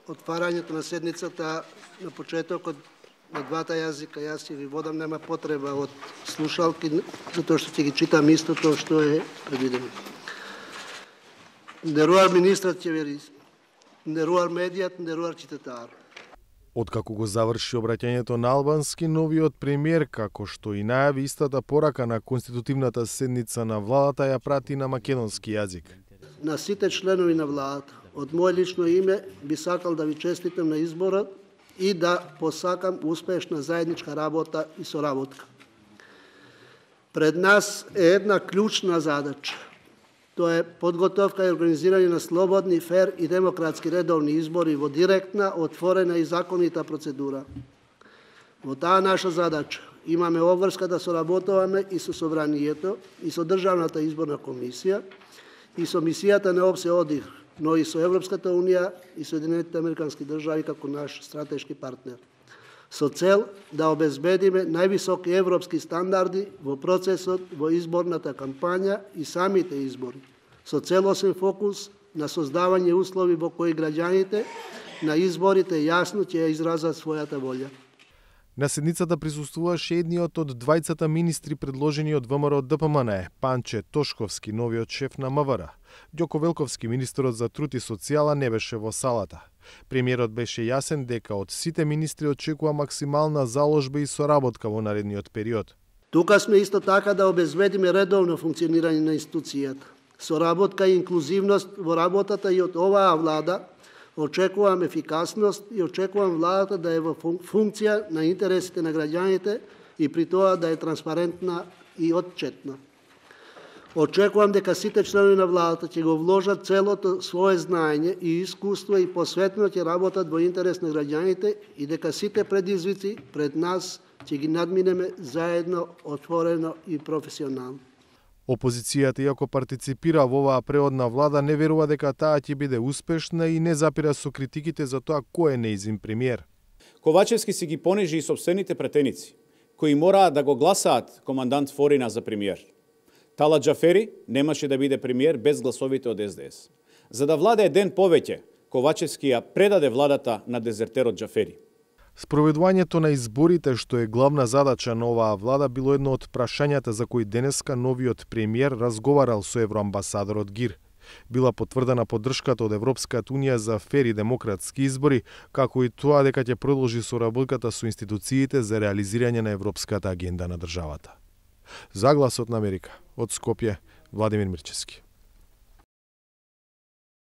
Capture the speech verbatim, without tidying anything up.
отварањето на седницата на почетокот на двата јазика. Јас ќе ви водам, нема потреба од слушалки, затоа што ќе ги читам истото што е предвидено. Нderuar министрат qeverisë, nderuar медијат, nderuar qytetarë. Откако го заврши обраќањето на албански, новиот премиер, како што и најави истата порака на конститутивната седница на владата, ја прати на македонски јазик. На сите членови на владата, од моје лично име би сакал да ви честитам на изборот и да посакам успешна заедничка работа и соработка. Пред нас е една клучна задача. Тоа е подготовка и организирање на слободни, фер и демократски редовни избори во директна, отворена и законита процедура. Во таа наша задача имаме обврска да соработуваме и со Собранието, и со Државната изборна комисија, и со мисијата на ОПСЕ ОДИХ, но и со Европската унија и Соединетите американски држави како наш стратешки партнер, со цел да обезбедиме највисоки европски стандарди во процесот во изборната кампања и самите избори, со целосен фокус на создавање услови во кои граѓаните на изборите јасно ќе ја изразат својата волја. На седницата присуствуваше едниот од двајцата министри предложени од ВМРО Д П М Н Е, Панче Тошковски, новиот шеф на М В Р. Ѓоко Велковски, министерот за труд и социјала, не беше во салата. Премиерот беше јасен дека од сите министри очекува максимална заложба и соработка во наредниот период. Тука сме исто така да обезбедиме редовно функционирање на институцијата, соработка и инклузивност во работата и од оваа влада. Очекувам ефикасност и очекувам владата да е во функција на интересите на граѓаните и при тоа да е транспарентна и отчетна. Очекувам дека сите членови на владата ќе го вложат целото свое знаење и искуство и посветно ќе работат во интерес на граѓаните и дека сите предизвици пред нас ќе ги надминеме заедно, отворено и професионално. Опозицијата, иако партиципира во оваа преодна влада, не верува дека таа ќе биде успешна и не запира со критиките за тоа кој е нејзин премиер. Ковачевски си ги понижи и сопствените претеници, кои мораа да го гласаат командант Форина за премиер. Талат Џафери немаше да биде премиер без гласовите од С Д С. За да владее ден повеќе, Ковачевски ја предаде владата на дезертерот Џафери. Спроведувањето на изборите, што е главна задача на оваа влада, било едно од прашањата за кои денеска новиот премиер разговарал со евроамбасадорот Гир. Била потврдена поддршката од Европската унија за фер и демократски избори, како и тоа дека ќе продолжи соработката со институциите за реализирање на европската агенда на државата. За Гласот на Америка, од Скопје, Владимир Мирчевски.